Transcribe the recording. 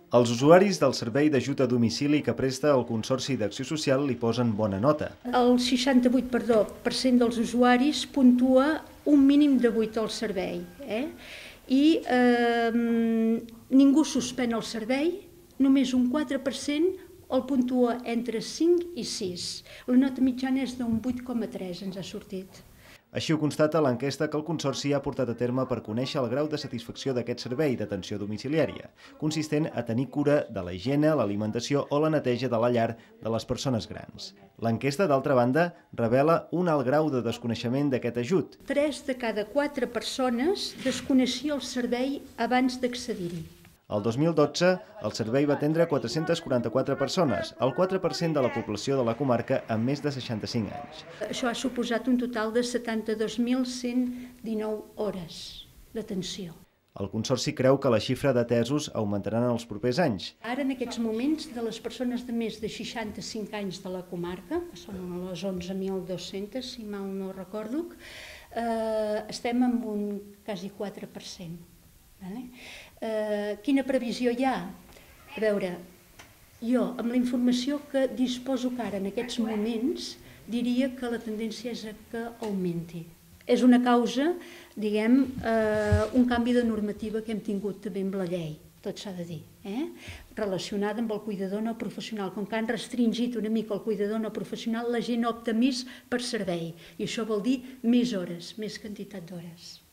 Els usuaris del servei d'ajut a domicili que presta el Consorci d'Acció Social li posen bona nota. El 68% dels usuaris puntua un mínim de 8 al servei. I ningú suspèn el servei, només un 4% el puntua entre 5 i 6. La nota mitjana és d'un 8,3, ens ha sortit. Així ho constata l'enquesta que el Consorci ha portat a terme per conèixer el grau de satisfacció d'aquest servei d'atenció domiciliària, consistent a tenir cura de la higiene, l'alimentació o la neteja de la llar de les persones grans. L'enquesta, d'altra banda, revela un alt grau de desconeixement d'aquest ajut. 3 de cada 4 persones desconeixia el servei abans d'accedir-hi. El 2012, el servei va atendre 444 persones, el 4% de la població de la comarca amb més de 65 anys. Això ha suposat un total de 72.119 hores d'atenció. El Consorci creu que la xifra d'atesos augmentaran en els propers anys. Ara, en aquests moments, de les persones de més de 65 anys de la comarca, que són les 11.200, si mal no recordo, estem amb un quasi 4%. Quina previsió hi ha? A veure, jo, amb la informació que disposo que ara en aquests moments, diria que la tendència és que augmenti. És una causa, diguem, un canvi de normativa que hem tingut també amb la llei, tot s'ha de dir, relacionada amb el cuidador no professional. Com que han restringit una mica el cuidador no professional, la gent opta més per servei, i això vol dir més hores, més quantitat d'hores.